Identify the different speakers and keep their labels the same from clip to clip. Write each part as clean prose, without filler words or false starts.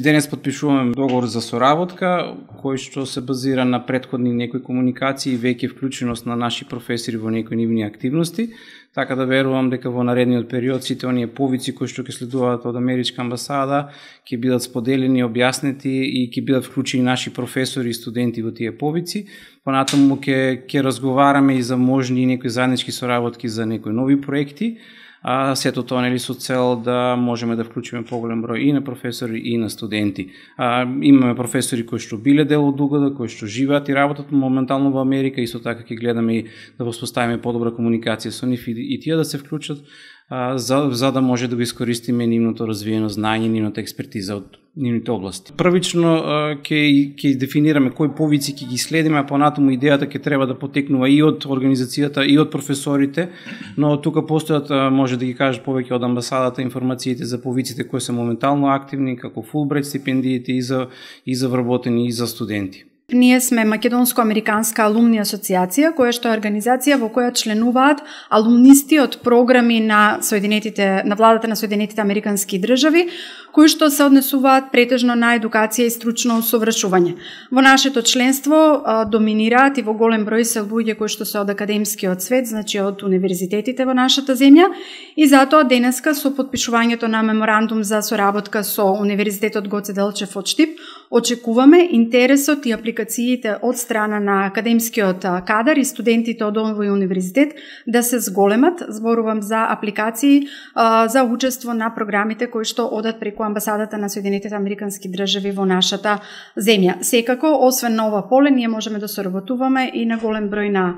Speaker 1: Денес подпишуваме договор за соработка, кој што се базира на претходни некои комуникации и веќе вклученост на наши професори во некои нивни активности, така да верувам дека во наредниот период сите оние повици кои што ќе следуваат од Америчка амбасада ќе бидат споделени, објаснети и ќе бидат вклучени наши професори и студенти во тие повици. Понатаму ќе разговараме и за можни некои заеднички соработки за некои нови проекти. Сето тоа нели со цел да можеме да вклучиме поголем број и на професори и на студенти. Имаме професори кои што биле дел од угода, кои што живеат и работат моментално во Америка, исто така ќе гледаме и да воспоставиме подобра комуникација со нив и тие да се вклучат за да може да го искористиме нивното развиено знаење, нивната експертиза од нивните области. Првично ќе дефинираме кои повици ќе ги следиме, а понатаму идејата ќе треба да потекнува и од организацијата и од професорите, но тука постојат, може да ги кажат повеќе од амбасадата, информациите за повиците кои се моментално активни, како Фулбрайт стипендиите и за вработени и за студенти.
Speaker 2: Ние сме Македонско-американска алумни асоциација, која што е организација во која членуваат алумнисти од програми на владата на Соединетите Американски држави, кои што се однесуваат претежно на едукација и стручно усовршување. Во нашето членство доминираат и во голем број се луѓе кои што се од академскиот свет, значи од универзитетите во нашата земја, и затоа денеска со потпишувањето на меморандум за соработка со Универзитетот Гоце Делчев од Штип, очекуваме интересот и апликациите од страна на академскиот кадар и студентите од овој универзитет да се зголемат. Зборувам за апликации за учество на програмите кои што одат преку амбасадата на Соединетите Американски држави во нашата земја. Секако, освен на ова поле, ние можеме да соработуваме и на голем број на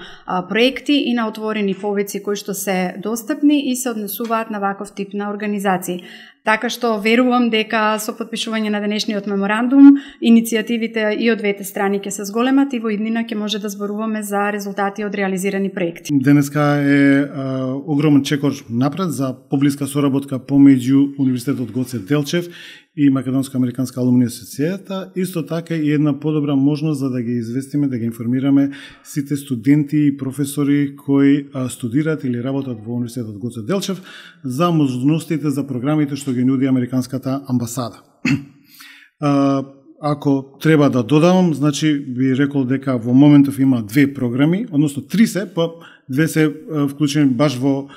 Speaker 2: проекти и на отворени повици кои што се достапни и се однесуваат на ваков тип на организации. Така што верувам дека со потпишување на денешниот меморандум, иницијативите и од двете страни ќе се зголемат и во иднина ќе може да зборуваме за резултати од реализирани проекти.
Speaker 3: Денеска е огромен чекор напред за поблиска соработка помеѓу Универзитетот Гоце Делчев и Македонско-американска алумни асоцијата, исто така и една подобра можност за да ги известиме, да ги информираме сите студенти и професори кои студираат или работат во Универзитетот Гоце Делчев за можностите за програмите што ги нуди Американската амбасада. Ако треба да додавам, значи би рекол дека во моментов има две програми, односно три се, па две се вклучени баш во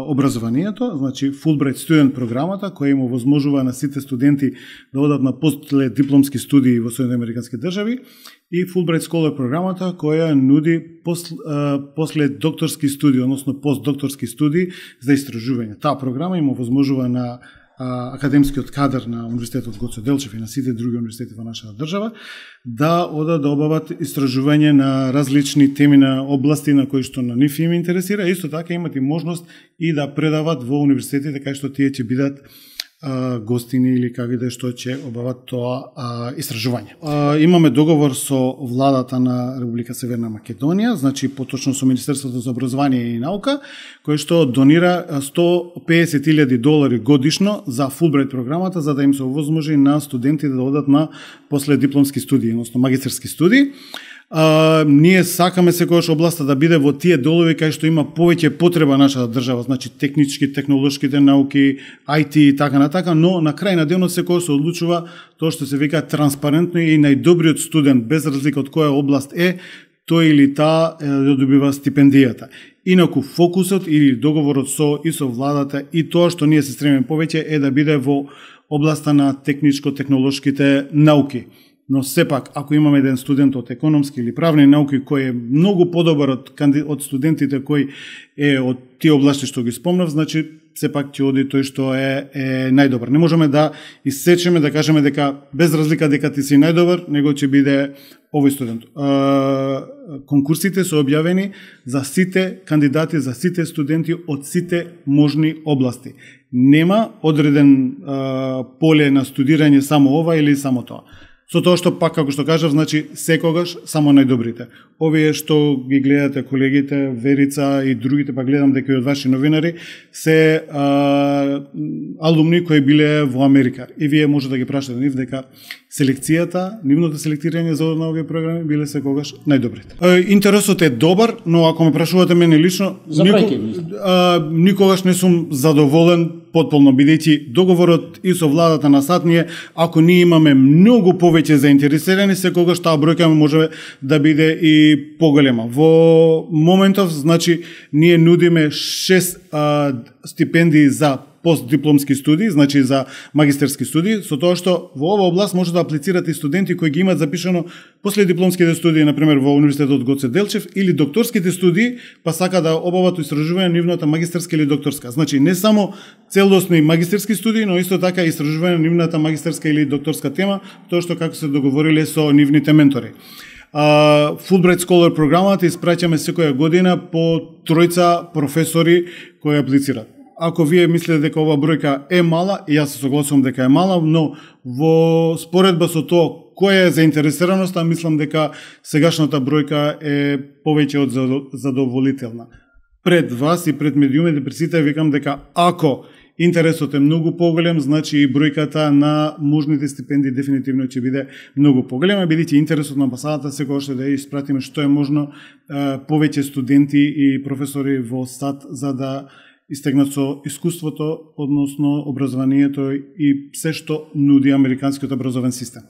Speaker 3: образованието, значи Fulbright Student програмата, која им овозможува на сите студенти да одат на последипломски студии во Соединените Американски држави, и Fulbright Scholar програмата, која нуди после докторски студии, односно постдокторски студии за истражување. Таа програма им овозможува на академскиот кадар на Универзитетот Гоце Делчев и на сите други универзитети во нашата држава да одат да обават истражување на различни теми на области на кои што на нив им интересира, исто така имат и можност и да предават во универзитетите кај што тие ќе бидат гостини или како да што ќе обават тоа истражување. Имаме договор со владата на Република Северна Македонија, значи поточно со Министерството за образование и наука, кој што донира $150,000 годишно за Fulbright програмата, за да им се овозможи на студентите да одат на последипломски студии, односно магистерски студии. Ние сакаме секогаш областа да биде во тие делови кај што има повеќе потреба нашата држава, значи технички, технолошките науки, IT и така натака, но на крај на денот секогаш се одлучува тоа што се вика транспарентно и најдобриот студент, без разлика од која област е, тој или таа да добива стипендијата. Инаку фокусот или договорот со владата и тоа што ние се стремиме повеќе е да биде во областа на техничко-технолошките науки. Но сепак, ако имаме еден студент од економски или правни науки кој е многу подобар од студентите кои е од тие области што ги спомнав, значи сепак ќе оди тој што е најдобар. Не можеме да исечеме, да кажеме дека без разлика дека ти си најдобар, него ќе биде овој студент. Конкурсите се објавени за сите кандидати, за сите студенти од сите можни области. Нема одреден поле на студирање само ова или само тоа. Со тоа што пак, како што кажав, значи секогаш само најдобрите. Овие што ги гледате колегите, Верица и другите, па гледам дека и од ваши новинари, се алумни кои биле во Америка. И вие може да ги прашате нив дека селекцијата, нивното селектирање за на овие програми биле секогаш најдобрите. Интересот е добар, но ако ме прашувате мене лично, никогаш не сум задоволен потполно, бидејќи договорот и со владата на САД ние, ако ние имаме многу повеќе заинтересирани, секогаш таа бројка може да биде и поголема. Во моментов, значи, ние нудиме 6 стипендии за постдипломски студии, значи за магистерски студии, со тоа што во оваа област може да аплицират и студенти кои ги имаат запишано после дипломските студии, например во Универзитетот Гоце Делчев, или докторските студии, па сака да обават истражување на нивната магистерска или докторска. Значи не само целосни магистерски студии, но исто така истражување на нивната магистерска или докторска тема, тоа што како се договориле со нивните ментори. Fulbright Scholar програмата испраќаме секоја година по 3 професори кои аплицираат. Ако вие мислите дека ова бројка е мала, и јас се согласувам дека е мала, но во споредба со тоа која е заинтересираноста, мислам дека сегашната бројка е повеќе од задоволителна. Пред вас и пред медиумите, пред сите викам дека ако интересот е многу поголем, значи и бројката на можните стипендии дефинитивно ќе биде многу поголема, бидејќи интересот на амбасадата секогаш е да ја испратиме што е можно повеќе студенти и професори во САД за да истегнат со искуството, односно образованието и се што нуди американскиот образовен систем.